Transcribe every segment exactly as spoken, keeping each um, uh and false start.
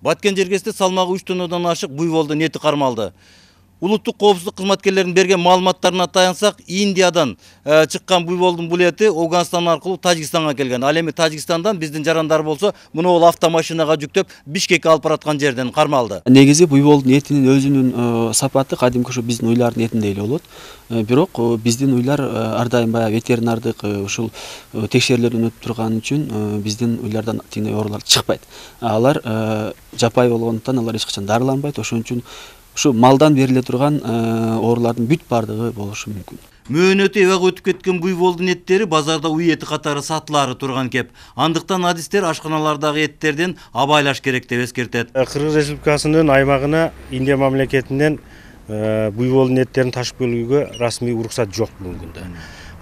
Баткен жергесинде салмагы үч тоннадан ашык буйволдун эти кармалды. Улуттук коопсуздук кызматкерлеринин берген маалыматтарына таянсак, Индиядан э, чыккан буйволдун бул эти Афганистан аркылуу Тажикстанга келген. Ал эми Тажикстандан биздин жарандар болсо, муну ол автомашинага жүктөп Бишкекке алып бараткан жерден кармалды. Негизи буйволдун этинин өзүнүн э, сапаты кадимки ушу биздин уйлардын этиндей эле болот. Э, бирок э, биздин уйлар э, ар дайым баягы ветеринардык э, ушул э, текшерүүлөрдөн өтүп турган үчүн э, биздин уйлардан тиңдей оорулар чыкпайт. Алар э, жапай болгондуктан алар эч качан дарыланбайт. Ошон үчүн ушу малдан бериле турган оорулардын бүт бардыгы болушу мүмкүн. Мөөнөтү эбак өтүп кеткен буйволдун эттери базарда уй эти катары сатылары турган кеп. Андыктан адистер ашканалардагы эттерден абайлаш керек деп эскертет. Кыргыз Республикасынын аймагына Индия мамлекетинен буйволдун эттерин ташып келүүгө расмий уруксат жок бүгүнкү күндө.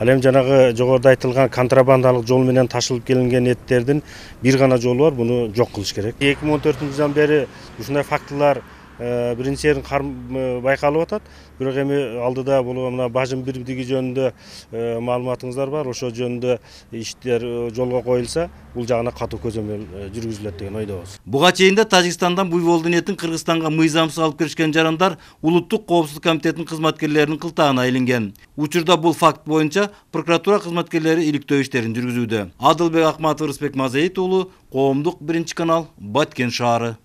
Ал эми жанагы жогоруда айтылган контрабандалык жол менен ташылып келинген эттердин бир гана жолу бар, буну жок кылыш керек. эки миң он төртүнчү жылдан бери ушундай фактылар биринчи эрин байкалып атат. Бирок эми алдыда бул мына бажым бирдиги жөнүндө маалыматыңыздар бар. Ошо жөнүндө иштер жолго коюлса, бул жагына катуу көзөмөл жүргүзүлөт деген ойдобуз. Буга чейин да Тажикстандан буйволдун этин Кыргызстанга мыйзамсыз алып киришкен жарандар Улуттук коопсуздук комитетинин кызматкерлеринин кылтагына илинген. Учурда бул факт боюнча прокуратура кызматкерлери иликтөө иштерин жүргүзүүдө. Адылбек Акматов, Рысбек Мазаит уулу, Коомдук биринчи канал, Баткен шаары.